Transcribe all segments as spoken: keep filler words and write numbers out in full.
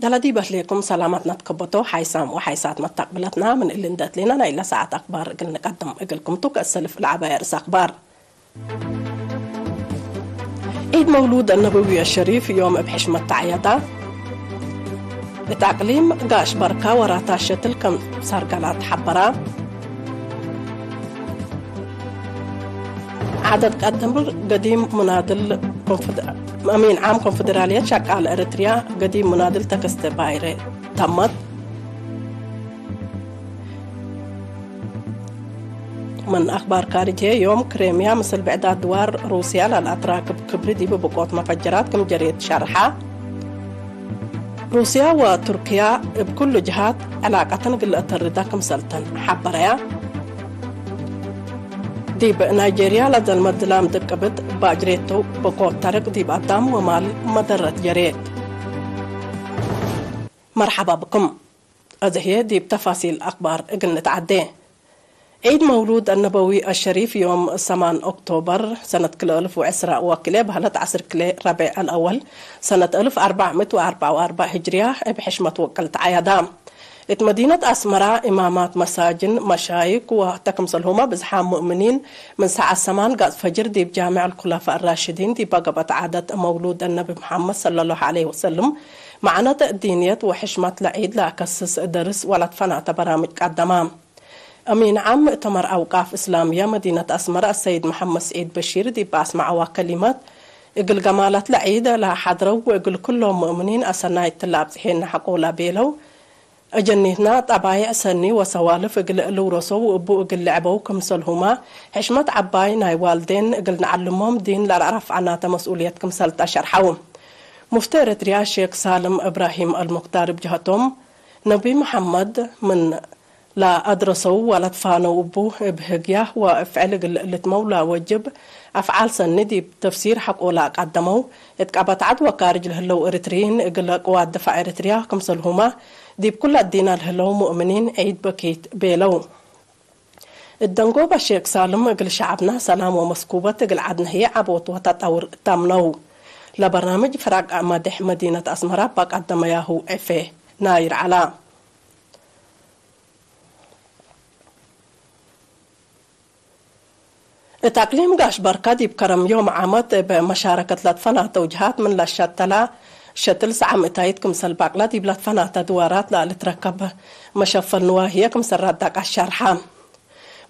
ደለ ዲብ እህሌኩም ሰላማትና ትከበቶ ሓይሳም ወሓይሳት መታቅብለትና፣ ምን እሊ እንዴ እትሌና ናይለ ሰዓት አክባር እግል ንቀድም እግልኩም ቱ። ከእሰልፍ ለዐባይ አርእስ አክባር። ዒድ መውሉድ አነበዊ አሸሪፍ ዮም እብ ሕሽመት ተዐየዳ። እት አቅሊም ጋሽ በርካ ወራታት ሸትል ከም ሳርጋላት ሐበራ። ዐደድ ቀድር ገዲም ሙናድል ኮንፈደ-፣ አሚን ዓም ኮንፈደራልየት ሸቃለ ኤረትርያ ገዲም ሙናድል ተከስተ ባይረ ተመት። ምን አክባር ካርጅ ህዬ፣ ዮም ክሬምያ ምስል ብዕዳት ድዋር ሩስያ ለልአትራክብ ክብሪ ዲብ ብቆት መፈጀራት ክም ጀሬት ሸርሐ። ሩስያ ወቱርክያ እብ ኩሉ ጀሃት ዕላቀተን እግል ለአተርዳ ክምሰልተን ሐበረያ። ዲብ ናይጄርያ ለዘልመት ዝላም ድቅብት ባጅሬቱ ብቆት ተርቅ ዲብ አዳም ወማል መደረት ጀሬት። መርሐባ ብኩም። አዜ ህዬ ዲብ ተፋሲል አክባር እግል ንትዐዴ። ዒድ መውሉድ አነበዊ አሸሪፍ ዮም ሰማን ኦክቶበር ሰነት ክልኤ አልፍ ወዕስራ ወክልኤ በህለት ዐስር ክልኤ ረቤዕ አልአወል ሰነት አልፍ አርበዕ ምእት ወአርበዕ ወአርበዕ ህጅርያ እብ ሕሽመት ወቅል ተዐያዳ። እት መዲነት አስመራ እማማት መሳጅን፣ መሻይክ ወህተ ክምሰልሁመ ብዝሓም ሙእምኒን ምን ሰዓት ሰማን ጋጽ ፈጅር ዲብ ጃምዕ አልኩለፋእ አራሽዲን ዲበ ገብአት ዐደት መውሉድ አነቢ መሐመድ ሰለላሁ ዐለይሂ ወሰልም መዕነት ዲንየት ወሕሽመት ለዒድ ለአከስስ ደርስ ወለትፈናተ በራምጅ ቀደማ። አሚን ዓም ምእተመር አውቃፍ እስላምየ መዲነት አስመረ አሰይድ መሐመድ ስዒድ በሺር ዲብ አስመዐዋ ከሊመት፣ እግል ገማለት ለዒድ ለሐድረው ወእግል ኩሎም ሙእምኒን አሰናይት ለአብጽሔነ ሐቆ ለቤለው፣ አጀኒትና ጠባይዕ ሰኒ ወሰዋልፍ እግል ልውረሰው እቡ እግል ልዕበው ክምሰልሁመ፣ ሕሽመት ዐባይ ናይ ዋልዴን እግል ነዐልሞም ዲን ለለአረፍዐናተ መስኡልየት ክምሰል ተሸርሐው። ሙፍቲ ኤረትርያ ሼክ ሳልም እብራሂም አልሙክታር እብ ጀሀቶም፣ ነቢ መሐመድ ምን ለአድረሰው ወለትፋነው እቡ፣ እብ ህግያ ወእፍዕል እግል ልትመው ለወጅብ አፍዓል ሰኒ ዲብ ተፍሲር ሐቆ ለአቀደመው፣ እት ቀበት ዐድ ወካርጅ ለህለው ኤረትርዪን እግል ቅዋት ድፋዕ ኤረትርያ ክምሰልሁመ፣ ዲብ ኩለ እዲነ ለህለው ሙእምኒን ዒድ በኪት ቤለው። እት ደንጎበ ሼክ ሳልም እግል ሸዐብና ሰላም ወመስኩበት እግል ዐድነ ህዬ ዐቦት ወተጠውር ተምነው። ለበርናምጅ ፍራቅ መዴሕ መዲነት አስመረ እበ ቀደመያሁ ዕፌ ናይር ዐላ። እት አቅሊም ጋሽ በርከ ዲብ ከረም ዮም ዓመት እብ መሻረከት ለትፈናተው ጀሃት ምን ለሸተላ ሸትል ሰዓም እታይት ክምሰል ባቅላ ዲብ ለትፈናተ ድዋራት ለልትረከብ መሸፈል ንዋህየ ክምሰል ረዳቅ አሻርሐ።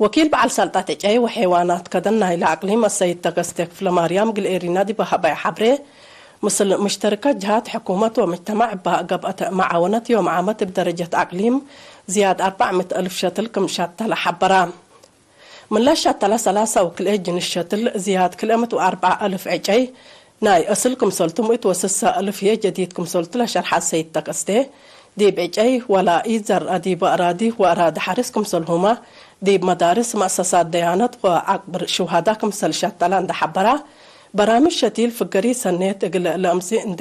ወኪል በዐል ሰልጠት ዕጨይ ወሐይዋናት ከደን ናይለ አቅሊም አሰይድ ተከስተ ክፍለማርያም እግል ኤሪና ዲብ ሀበየ ሐብሬ፣ ምስል ምሽተርከት ጀሃት ሕኩመት ወምጅተማዕ እበ ገብአት መዓወነት ዮም ዓመት እብ ደረጀት አቅሊም ዝያድ አርበዕ ምእት አልፍ ሸትል ክም ሸተለ ሐበራ። ምን ለሸተለ ሰላሳ ወክልኤ ጅንስ ሸትል ዝያድ ክልኤ ምእት ወአርበዕ አልፍ ዕጨይ ናይ አስል ክምሰልቱ፣ ምእት ወስሰ አልፍ ህዬ ጀዲድ ክምሰልቱ ለሸርሐ ሰይድ ተከስቴ፣ ዲብ ዕጨይ ወላ ኢዘርአ ዲበ አራዲ ወአራዲ ሐርስ ክምሰልሁመ፣ ዲብ መዳርስ፣ መአሰሳት ደያነት ወአቅብር ሹሀዳ ክምሰል ሸተለ እንዴ ሐበራ፣ በራምጅ ሸቲል ፍገሪ ሰኔት እግል ለአምጽእ እንዴ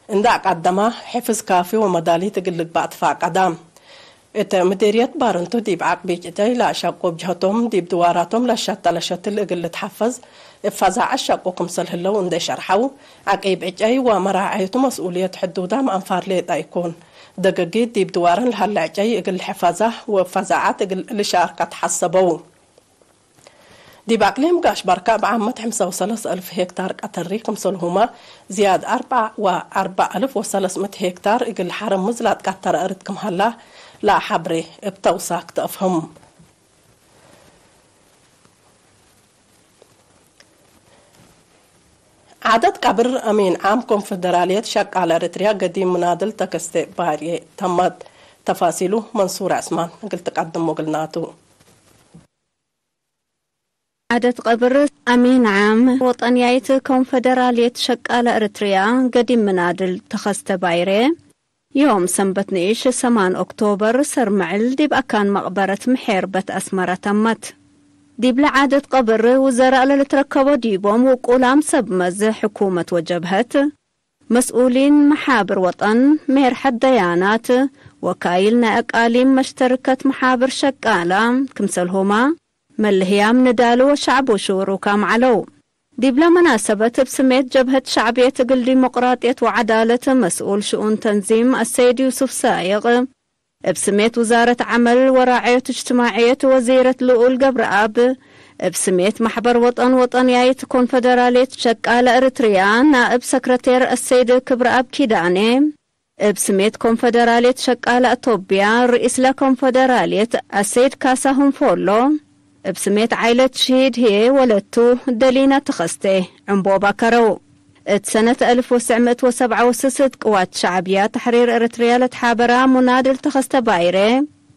እንዴ አቀደመ፣ ሕፍዝ ካፊ ወመዳሊት እግል ልግባእ ትፋቀደ። እት ምዴርየት ባረንቱ ዲብ ዐቅቢጭ ዕጨይ ለአሸቁ እብ ጀህቶም፣ ዲብ ድዋራቶም ለሸተለ ሸትል እግል ልትሐፈዝ፣ እብ ፈዛዐት ሸቁ ክምሰል ህለው እንዴ ሸርሐው፣ ዐቂብ ዕጨይ ወመራዐየቱ መስኡልየት ሕዱዳም አንፋር ሌጠ ኢኮን። ደገጊት ዲብ ድዋረን ለሀለ ዕጨይ እግል ልሕፈዛ ወእብ ፈዛዐት እግል ልሻርከ ተሐሰበው። ዲብ አቅሊም ጋሽ በርከ እብ ዓመት ሐምሳ ወሰለስ አልፍ ሄክታር ቀተሪ ክምሰልሁመ፣ ዝያድ አርበዕ ወአርበዕ አልፍ ወሰለስ ምእት ሄክታር እግል ሐረምዝ ለአትቀተረ እርድ ክም ሀላ ለሐብሬ እብ ተውሳክ ተአፍህም። ዐደት ቀብር አሚን ዓም ኮንፈደራልየት ሸቃለ ኤረትርያ ገዲም ምናድል ተከስተ ባርየ ተመት። ተፋሲሉ መንሱር ዐስማን እግል ትቀድሞ እግልናቱ። ዐደት ቀብር አሚን ዓም ወጠንያይት ኮንፈደራልየት ሸቃለ ኤረትርያ ገዲም ምናድል ተኸስተ ባይሬ፣ ዮም ሰንበት ንኢሽ ሰማን ኦክቶበር ሰርምዕል ዲብ አካን መቅበረት ምሔር በት አስመረ ተመት። ዲብለ ዐደት ቀብር ውዘራእ ለልትረከቦ ዲቦም ውቁላም ሰብ መዝ ሕኩመት ወጀብሀት፣ መስኡሊን መሓብር ወጠን፣ ሜርሐት ደያናት፣ ወካይል ናይ አቃሊም መሽተርከት መሓብር ሸቃላ፣ ክምሰልሁማ መልህያም ንዳሉ ወሸዕቡ ሽሩካም ዐለው። ዲብለ መናሰበት፣ እብ ስሜት ጀብሀት ሸዕብየት እግል ዲሞቅራጥየት ወዐዳለት መስኡል ሽኡን ተንዚም አሰይድ ዩሱፍ ሳይቅ፣ እብ ስሜት ውዛረት ዐመል ወራዕዮት እጅትማዕየት ወዚረት ልኡል ገብረአብ፣ እብ ስሜት ማሕበር ወጠን ወጠንያይት ኮንፈደራልየት ሸቃለ እርትርያ ናእብ ሰክረቴር አሰይድ ክብረአብ ኪዳኔ፣ እብ ስሜት ኮንፈደራልየት ሸቃለ አቶብያ ርኢስ ለኮንፈደራልየት አሰይድ ካሳሁን ፎሎ፣ እብ ስሜት ዓይለት ሽሂድ ህዬ ወለቱ ደሊና ተኸስተ ዕንቦባ ከረው። እት ሰነት አልፍ ወትሰዕ ምእት ወሰብዓ ወስስ እት ቅዋት ሸዕብያ ተሕሪር ኤረትርያ ለትሓበራ ሙናድል ተኸስተ ባይሬ፣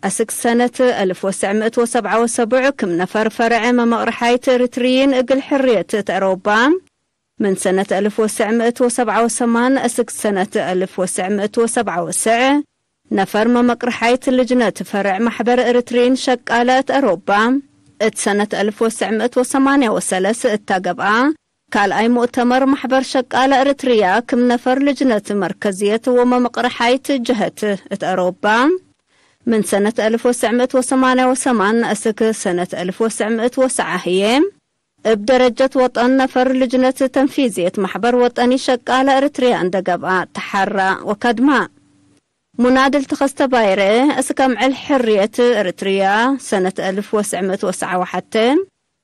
አስክ ሰነት አልፍ ወትሰዕ ምእት ወሰብዓ ወሰቡዕ ክም ነፈር ፈረዐ መመቅርሓይት ኤረትርይን እግል ሕርየት እት አሮባ፣ ምን ሰነት አልፍ ወትሰዕ ምእት ወሰብዓ ወሰማን እስክ ሰነት አልፍ ወትሰዕ ምእት ወሰብዓ ወትሰዕ፣ ነፈር መመቅርሓይት ልጅነት ፈርዕ ማሕበር ኤረትርይን ሸቃለ እት አሮባ፣ እት ሰነት አልፍ ወትሰዕ ምእት ወሰማንያ ወሰለስ እታ ገብአ፣ ካልኣይ ሙእተመር ማሕበር ሸቃለ ኤረትርያ ክም ነፈር ልጅነት መርከዝየት ወመመቅርሓይት ጀሀት እት አሮባ፣ ምን ሰነት አልፍ ወትሰዕ ምእት ወሰማንያ ወሰማን እስክ ሰነት አልፍ ወትሰዕ ምእት ወሰዓ ህዬ፣ እብ ደረጀት ወጠን ነፈር ልጅነት ተንፊዝየት ማሕበር ወጠኒ ሸቃለ ኤረትርያ እንደ ገብአ ተሐራ ወከድማ። ሙናድል ተኸስተ ባይረ፣ እስከ ምዕል ሕርየት ኤረትርያ ሰነት አልፍ ወትሰዕ ምእት ወሰዓ ወሐቴ፣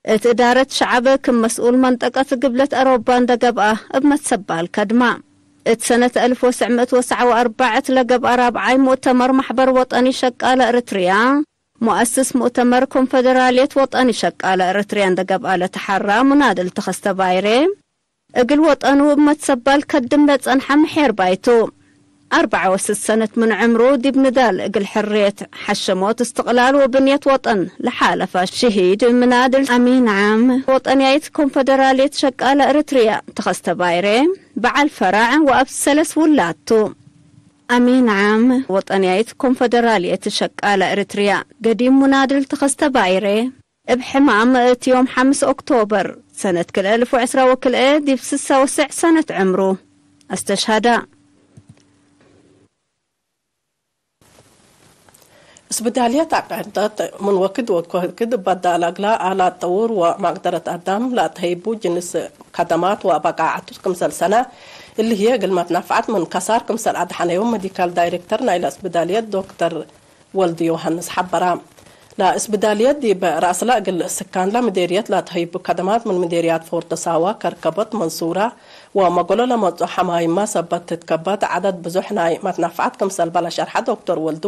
እት እዳረት ሸዐብ ክም መስኡል መንጠቀት ግብለት አሮባ እንደ ገብአ እብ መትሰባል ከድማ። እት ሰነት አልፍ ወትሰዕ ምእት ወሰዓ ወአርበዕ እት ለገብአ ራብዓይ ሙእተመር ማሕበር ወጠኒ ሸቃለ ኤረትርያ፣ ሙአስስ ሙእተመር ኮንፈደራልየት ወጠኒ ሸቃለ ኤረትርያ እንደ ገብአ ለተሐራ ሙናድል ተኸስተ ባይሬ፣ እግል ወጠኑ እብ መትሰባል ከድም ለጸንሐ ምሔርባይ ቱ። አርበዓ ወስስ ሰነት ምን ዕምሩ ዲብ ንዳል እግል ሕርየት፣ ሐሸሞት፣ እስትቅላል ወብንየት ወጠን ለሓለፈ ሽሂድ ምናድል አሚን ዓም ወጠንያይት ኮንፈደራልየት ሸቃለ ኤረትርያ ተኸስተ ባይሬ በዓል ፈራዕ ወአብ ሰለስ ውላድ ቱ። አሚን ዓም ወጠንያይት ኮንፈደራልየት ሸቃለ ኤረትርያ ገዲም ሙናድል ተኸስተ ባይሬ፣ እብ ሕማም እት ዮም ሐምስ ኦክቶበር ሰነት ክልኤ አልፍ ወዕስራ ወክልኤ ዲብ ስሳ ወስዕ ሰነት ዕምሩ አስተሽሀዳ። እስብዳልየት አቅዕደት ምን ወክድ ወክድ በዳል እግላ አላት ጠውር ወመቅደረት አዳም ለአትሀይቡ ጅንስ ከደማት ወበቃዐቱ ክምሰል ሰነ እሊ ህዬ እግል መትነፈዐት ምን ከሳር ክምሰል አድሐነዮም መዲካል ዳይሬክተር ናይለ እስብዳልየት ዶክተር ወልድ ዮሐንስ ሐበራ። ለእስብዳልየት ዲብ ረአስለ እግል ስካንለ ምዴርየት ለትሀይቡ ከደማት ምን ምዴርያት ፎርዶ ሳዋ፣ ከርከቦት፣ መንሱራ ወመጎሎ ለመጽኦ ሐማይማ ሰበት ትትከበት ዐደድ ብዙሕ ናይ መትነፈዐት ክምሰል በለ ሸርሐ ዶክተር ወልዱ፣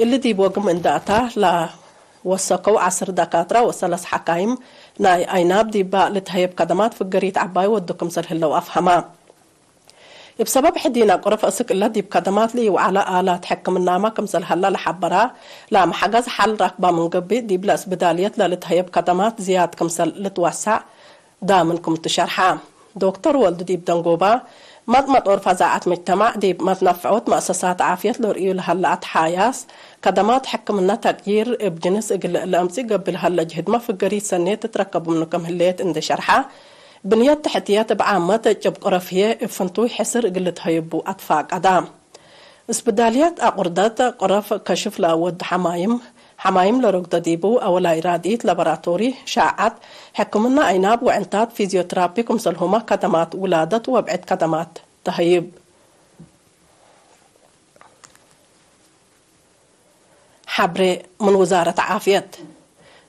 እሊ ዲብ ወግም እንደ አታ ለወሰከው ዐስር ደካትራ ወሰለስ ሐካይም ናይ አይናብ ዲባ ልትሀየብ ከደማት ፍገሪት ዐባይ ወዱ ክምሰል ህለው አፍሀማ። እብ ሰበብ ሕዲነ ቁረፍ እስክ እለ ዲብ ከደማት ለኢወዓለ አላት ሕክምናመ ክምሰል ሀላ ለሐበራ፣ ለመሐገዝ ሐል ረክባ ምን ገብእ፣ ዲብለ እስብዳልየት ለልትሀየብ ከደማት ዝያድ ክምሰል ልትወሰዕ ዳምን ክምቱ ሸርሐ። ዶክተር ወልዱ ዲብ ደንጎባ፣ መጥመጦር ፈዛዐት መጅተማዕ ዲብ መትነፈዖት መአሰሳት ዓፍየት ለርእዩ ለሀለ አትሓያስ፣ ከደማት ሕክምነ ተቅዪር እብ ጅንስ እግል ለአምጽእ ገብእ ለሀለ ጅህድመ ፍገሪት ሰኔት ትትረከብ ምኑ ክም ህሌት እንዴ ሸርሐ፣ ብንየት ተሕትየት እብ ዓመት ጭብ ቁረፍ ህዬ እብ ፍንቱይ ሕስር እግል ልትሀየቡ አትፋቀዳ። እስብዳልየት አቁርደት ቁረፍ ከሽፍ ለአወዱ ሐማይም፣ ሐማይም ለረግዶ ዲቡ፣ አወላይ ራድኢት፣ ላቦራቶሪ፣ ሻዐት፣ ሕክምና አይናብ ወዕንታት፣ ፊዝዮትራፒ ክምሰልሁመ ከደማት ውላደት ወብዕድ ከደማት ተሀይብ። ሐብሬ ምን ውዛረት ዓፍየት።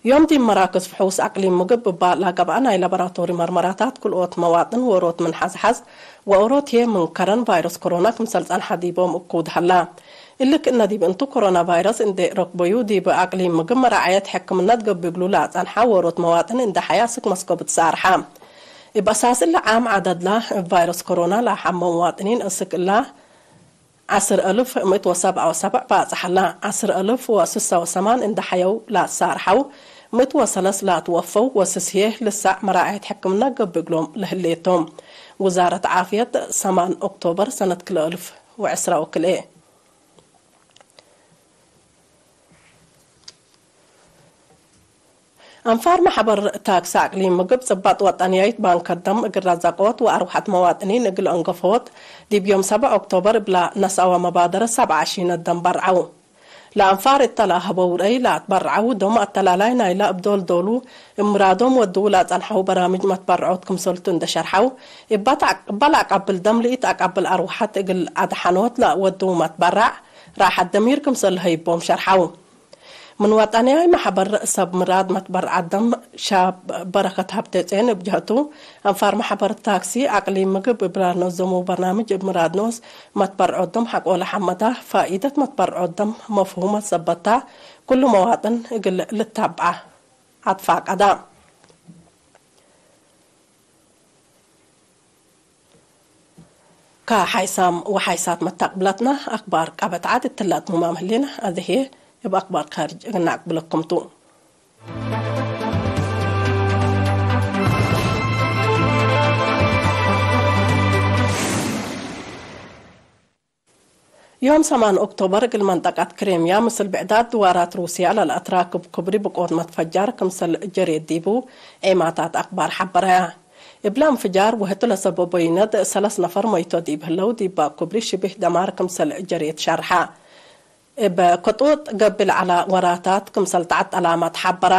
ዮም ዲብ መራክዝ ፍሑስ አቅሊም ምግብ እባ ለገብአ ናይ ላቦራቶሪ መርመራታት፣ ክልኦት መዋጥን ዎሮት ምን ሐዝሐዝ ወኦሮት ህዬ ምን ከረን ቫይረስ ኮሮና ክምሰል ጸንሐ ዲቦም እኩድ ሀላ። እሊ ክእነ ዲብ እንቱ ኮሮና ቫይረስ እንዴ ረክበዩ፣ ዲብ አቅሊም ምግብ መራዐየት ሕክምነት ገብእ እግሉ ለአጸንሐ ዎሮት መዋጥን እንዴ ሐያ እስክ መስኮብ ትሳርሐ። እብ አሳስ እሊ ዓም ዐደድላ እብ ቫይረስ ኮሮና ለሐመው መዋጥኒን እስክ እላ ዐስር አልፍ ምእት ወሰብዓ ወሰብዕ ባጽሐላ። ዐስር አልፍ ወስሳ ወሰማን እንዴ ሐየው ለአትሳርሐው፣ ምእት ወሰለስ ለአትወፈው ወስስ ህዬ ልሳዕ መራዐየት ሕክምና ገብእ እግሎም ለህሌቶም። ውዛረት ዓፍየት ሰማን ኦክቶበር ሰነት ክልኤ አልፍ ወዕስራ ወክልኤ። አንፋር መሕበር ታክስ አቅሊም ምግብ ጽባጥ ወጠንያይት ባንክ ከደም እግል ረዘቆት ወአርወሐት መዋጥኒን እግል አንገፎት ዲብ ዮም ሰብዕ ኦክቶበር እብላ ነስአወ መባደረት ሰብዓ ሺነት ደም በርዐው። ለአንፋር እተ ለአህበው ረአይ ለአትበረዐው፣ ዶም አተላላይ ናይለ እብ ዶል-ዶሉ እብ ምራዶም ወድዉ ለአጸንሐው በራምጅ መትበረዖት ክምሰልቱ እንዴ ሸርሐው፣ እበ ለአቀብል ደም ለኢተአቀብል አርወሐት እግል አድሐኖት ለወድዉ መትበረዕ ራሐት ደሚር ክምሰል ለሀይቦም ሸርሐው። ምን ወጠንያይ መሕበር ሰብ ምራድ መትበረዐት ደም ሻብ በረከት ሀብቴጽዮን እብ ጀህቱ፣ አንፋር መሕበር ታክሲ አቅሊም ምግብ እብ ለነዘመው በርናምጅ እብ ምራድ ኖስ መትበርዖት ደም ሐቆለ ሐመዳ፣ ፋኢደት መትበርዖት ደም መፍሁመት ሰበታ፣ ኩሉ መዋጥን እግል ልታብዓ አትፋቀዳ። ከሓይሳም ወሓይሳት መታቅብላትና አክባር ቀበት ዓድ እትለ አትሙማም ህሌና፣ አዜ ህዬ እብ አክባር ካርጅ እግል ነአቅብለኩም ቱ። ዮም ሰማን ኦክቶበር እግል መንጠቀት ክሬምያ ምስል ብዕዳት ድዋራት ሩስያ ለለአትራክብ ኩብሪ ብቆት መትፈጃር ክምሰል ጀሬት ዲቡ ዔማታት አክባር ሐበረያ። እብለ እንፍጃር ወህቱ ለሰበቦ ይነድ ሰለስ ነፈር መይቶ ዲብ ህለው፣ ዲባ ኩብሪ ሽቢህ ደማር ክምሰል ጀሬት ሸርሐ። እብ ክጡጥ ገብእ ለዐለ ወራታት ክምሰል ተዐጠላመ ተሐበረ።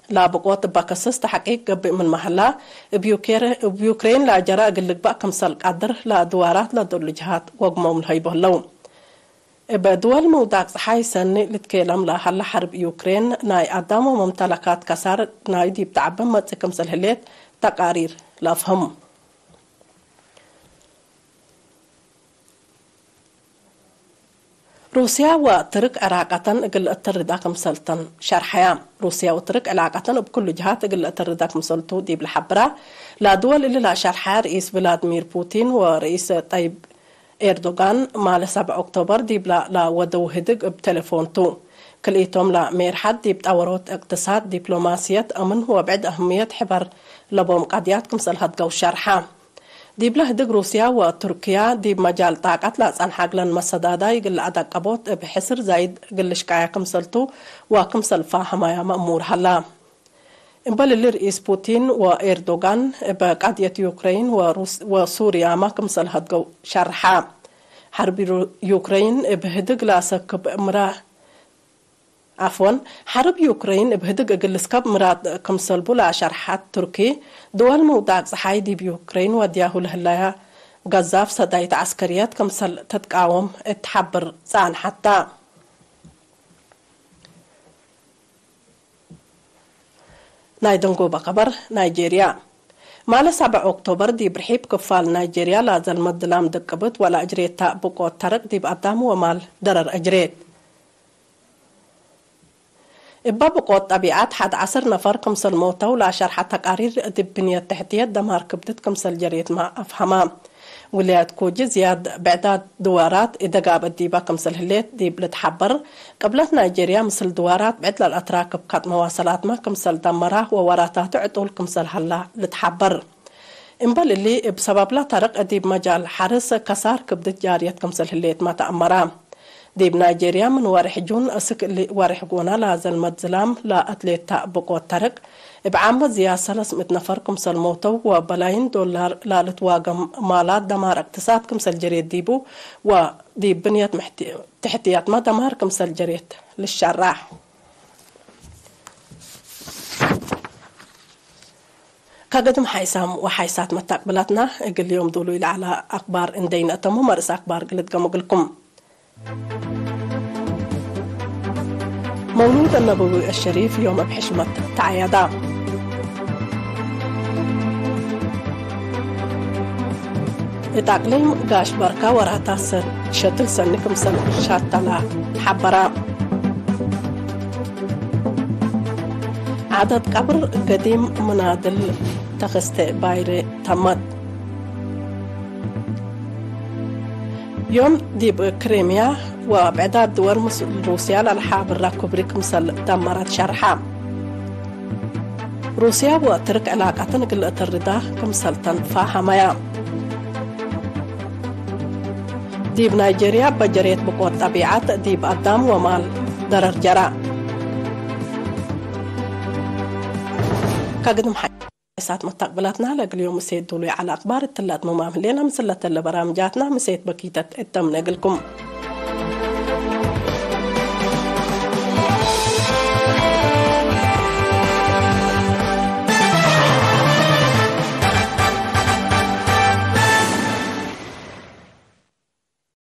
ላብቆት እበ ክስስ ተሐቂቅ ገብእ ምንመ ሀላ፣ እብ ዩኬር-፣ እብ ዩክሬን ለአጀረ እግል ልግበእ ክምሰል ቀድር ለአድዋራት ለዶሉ ጅሃት ወግሞም ለሀይቦ ህለው። እብ ድወል ምውዳቅ ጸሓይ ሰኒ ልትኬለም ለሀለ ሐርብ ዩክሬን ናይ አዳም ወመምተለካት ከሳር ናይ ዲብ ተዐበ መጽእ ክምሰል ህሌት ተቃሪር ለአፍህም። ሩስያ ወትርክ ዕላቀተን እግል እትርዳ ክምሰልተን ሸርሐያ። ሩስያ ወትርክ ዕላቀተን እብ ኩሉ ጅሃት እግል እትርዳ ክምሰልቱ ዲብ ለሐብራ ለድወል እሊ ለሸርሐ ርኢስ ቭላድሚር ፑቲን ወርኢስ ጠይብ ኤርዶጋን ማለ ሰብዕ ኦክቶበር ዲብላ ለወደው ህድግ እብ ቴሌፎን ቱ። ክልኢቶም ለሜርሐት ዲብ ጠወሮት እቅትሳድ፣ ዲፕሎማስየት፣ አምን ወብዕድ አህምየት ሕበር ለቦም ቀድያት ክምሰል ሀድገው ሸርሐ። ዲብለ ህድግ ሩስያ ወቱርክያ ዲብ መጃል ጣቀት ለአጸንሐ እግለን መሰዳዳይ እግል ለአደቀቦት እብ ሕስር ዛይድ እግል ልሽቀያ ክምሰልቱ ወክምሰል ፋሀማያ መእሙር ሀላ። እምበል እሊ ርኢስ ፑቲን ወኤርዶጋን እብ ቀድየት ዩክረይን ወሩስ-፣ ወሱርያመ ክምሰል ሀድገው ሸርሐ። ሐርብ ሩ-፣ ዩክረይን እብ ህድግ ለአሰክብ ምራ-፣ ዐፍወን፣ ሐርብ ዩክረይን እብ ህድግ እግል ልስከብ ምራድ ክምሰልቡ ለአሸርሐት ቱርኪ፣ ድወል ምውዳቅ ጸሓይ ዲብ ዩክረይን ወድያሁ ለህለያ ገዛፍ ሰዳይት ዐስከርየት ክምሰል ትትቃወም እት ሐብር ጸአንሐት ተ። ናይ ደንጎበ ከበር፣ ናይጄርያ። ማለ ሰብዕ ኦክቶበር ዲብ ርሒብ ክፋል ናይጄርያ ለዘልመት ዝላም ድቅብት ወለአጅሬት ተ ብቆት ተርቅ ዲብ አዳም ወማል ደረር አጅሬት። እበ ብቆት ጠቢዐት ሐድ ዐስር ነፈር ክምሰል ሞተው ለአሸርሐ ተቃሪር፣ ዲብ ብንየት ተሕትየት ደማር ክብድት ክምሰል ጀሬትመ አፍሀመ። ውላየት ኮጂ ዝያድ ብዕዳት ድዋራት ኢደጋብት ዲበ ክምሰል ህሌት ዲብ ልትሐበር፣ ቅብለት ናይጄርያ ምስል ድዋራት ብዕድ ለልአትራክብ ከጥ መዋሰላትመ ክምሰል ደመራ ወወራታቱ ዕጡል ክምሰል ሀላ ልትሐበር። እምበል እሊ፣ እብ ሰበብለ ተርቅ ዲብ መጃል ሐርስ ከሳር ክብድት ጃርየት ክምሰል ህሌትመ ተአመረ። ዲብ ናይጄርያ ምን ወሬሕ ጁን እስክ እሊ ወሬሕ ጎነ ለዘልመት ዝላም ለአትሌት ተ ብቆት ተርቅ፣ እብ ዓመት ዝያድ ሰለስ ምእት ነፈር ክምሰል ሞተው ወበላይን ዶላር ለልትዋገም ማላት ደማር እቅትሳድ ክምሰል ጀሬት ዲቡ ወዲብ ብንየት ምሕቲ-፣ ትሕትያትመ ደማር ክምሰል ጀሬት ልሸራሕ። ከግድም ሓይሳም ወሓይሳት መታቅብላትና፣ እግል ዮም ዱሉይ ለዐለ አክባር እንዴ ኢነአተሙ፣ መርእስ አክባር እግል እድገሙ እግልኩም። መውሉድ አነበዊ አሸሪፍ ዮም እብ ሕሽመት ተዐየዳ። እት አቅሊም ጋሽ በርካ ወራታት ሰ-፣ ሸትል ሰኒ ክምሰል ሻተላ ሐበራ። ዐደት ቀብር ገዲም ምናድል ተክስተ ባይረ ተመት። ዮም ዲብ ክሬምያ ወብዕዳት ድወል ምስል ሩስያ ለልሓብራ ኩብሪ ክምሰል ደመረት ሸርሐ። ሩስያ ወትርክ ዕላቀተን እግል እትርዳ ክምሰል ተንፋሀመያ። ዲብ ናይጄርያ በጀሬት ብቆት ጠቢዐት ዲብ አዳም ወማል ደረር ጀራ። ከግድም ሓይሳት መታቅብላትና ለእግል ዮም ምሴት ዱሉይ ዐለ አክባር እትለ አትምማም ህሌና። ምስል ለተለ በራምጃትና ምሴት በኪተት እተምነ እግልኩም።